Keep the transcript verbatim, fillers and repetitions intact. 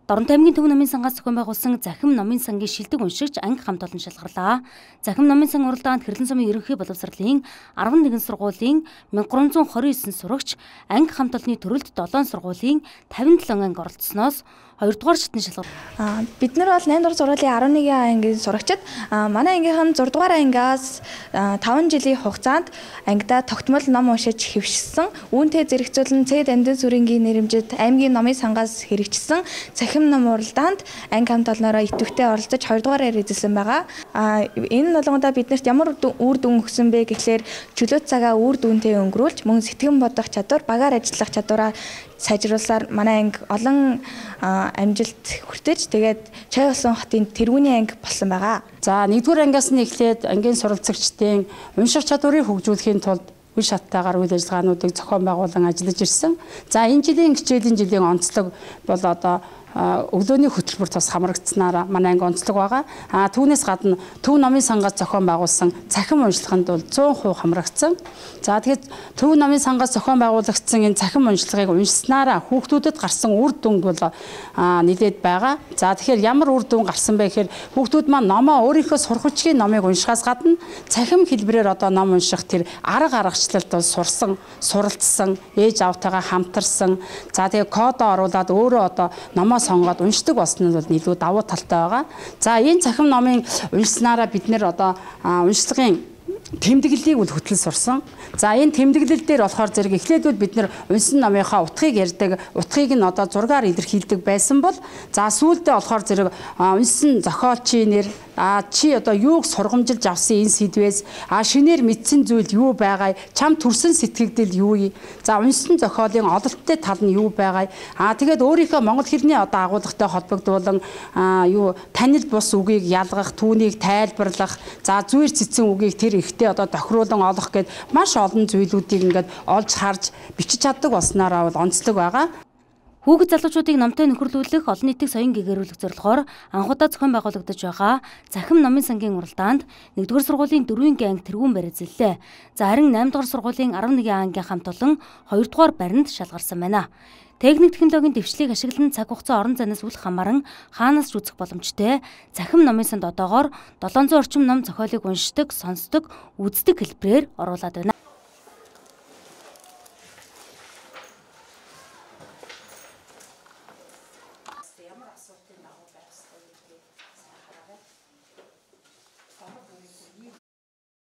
Доронтой аймгийн Төв номын сангаас зохион байгуулсан Захим номын сангийн шилдэг уншигч анги хамт олон шалгарлаа. Захим номын сан уралдаанд Хэрлэн сумын ерөнхий боловсролын арван нэгэн сургуулийн мянга гурван зуун хорин девять сурагч анги хамт олонны төрөлд долоон сургуулийн тавин долоон анги оролцсноос хоёрдугаар шатны шалгал. Аа бид нар бол наймдугаар сургуулийн арван нэгэн ангийн сурагчид манай ангийнхан зураг дугаар ангиас таван жилийн хугацаанд ангидаа тогтмол ном уншиж хэвшсэн. Үүнтэй зэрэгцүүлэн Цэд Амьд сүрэнгийн нэрэмжит аймгийн номын сангаас хэрэгжсэн Захим ном уралдаанд анги хамт олноороо идэвхтэй оролцож хоёрдугаараар эзэлсэн байгаа. Аа энэ болгондоо биднэрт ямар үр дүн өгсөн бэ гэхлээр чөлөө цагаа үр дүнтэй өнгөрүүлж мөн сэтгэн бодох чадвар, багаар ажиллах чадвараа сайжруулсаар манай анги олон амжилт хүртэж тэгээд Чай усан хотын тэргүүний анги болсон байгаа. За нэгдүгээр ангиас нь эхлээд ангийн суралцагчдын унших чадварыг хөгжүүлэхийн тулд үе шаттайгаар үйл ажиллагаануудыг зохион байгуулан ажиллаж ирсэн. За энэ жилийн хичээлийн жилийн онцлог бол одоо өглөөний хөтөлбөр тус хамрагдсанаараа манай анги онцлог байгаа. А түүнээс гадна Төв номын сангаас зохион байгуулсан Захим уншлаганд бол зуун хувь хамрагдсан. За тэгээд Төв номын сангаас зохион байгуулагдсан энэ Захим уншлагыг уншсанаараа хүүхдүүдэд гарсан үр дүн бол нэлээд байгаа. За тэгэхээр ямар үр дүн гарсан бэ гэхээр хүүхдүүд маань номоо өөрийнхөө сурах хүчгийн номыг уншихаас гадна цахим хэлбэрээр одоо ном унших тэр арга аргачлалд бол сурсан, суралцсан, ээж аавтайгаа хамтарсан. За тэгээд кодоо оруулаад өөрөө одоо номоо сонгоод уншдаг болсон нь бол илүү давуу талтай байгаа. За энэ Захим номын уншсанаараа бид нэр одоо уншлагын тэмдэглэлийг үл хөтлөл сурсан. За энэ тэмдэглэл дээр болохоор зэрэг эхлээдүүд бид нэр унсан номынхаа утгыг ярьдаг, утгыг нь одоо зургаар илэрхийлдэг байсан бол за сүүлдээ болохоор зэрэг унсан зохиолчийн нэр а чи одоо юуг сургамжилж авсан энэ сэдвээс а шинээр мэдсэн зүйл юу байгаа, чам төрсөн сэтгэгдэл юу юм. За унсан зохиолын ололттой тал нь юу байгаа. А тэгээд өөрийнхөө монгол хэлний одоо агуулгатай холбогдуулан а юу танил бус үгийг ялгах, түүнийг тайлбарлах, за зүйр цэцэн үгийг тэр ихтэй одоо тохируулан олох гэд маш олон зүйлүүдийг ингээд олж харж бичиж чаддаг болсноор бол онцлог байгаа. Хүүхэд залуучуудыг номтой нөхөрлүүлэх, олон нийтийг соён гэгэрүүлэх зорилгоор анхудаа зохион байгуулагдаж байгаа Захим номын сангийн уралдаанд нэгдүгээр сургуулийн дөрвийн анги тэргүүн барь эзэллээ. За харин наймдугаар сургуулийн арван нэгэн ангийн хамт олон хоёрдугаар баринд шалгарсан байна. Техник технологийн дэвшлийг ашиглан цаг хугацаа орон зайнаас үл хамааран хаанаас ч үзэх боломжтой Захим номын санд одоогоор долоон зуун орчим ном зохиолыг уншдаг, сонсдог, үздэг хэлбэрээр оруулаад байна.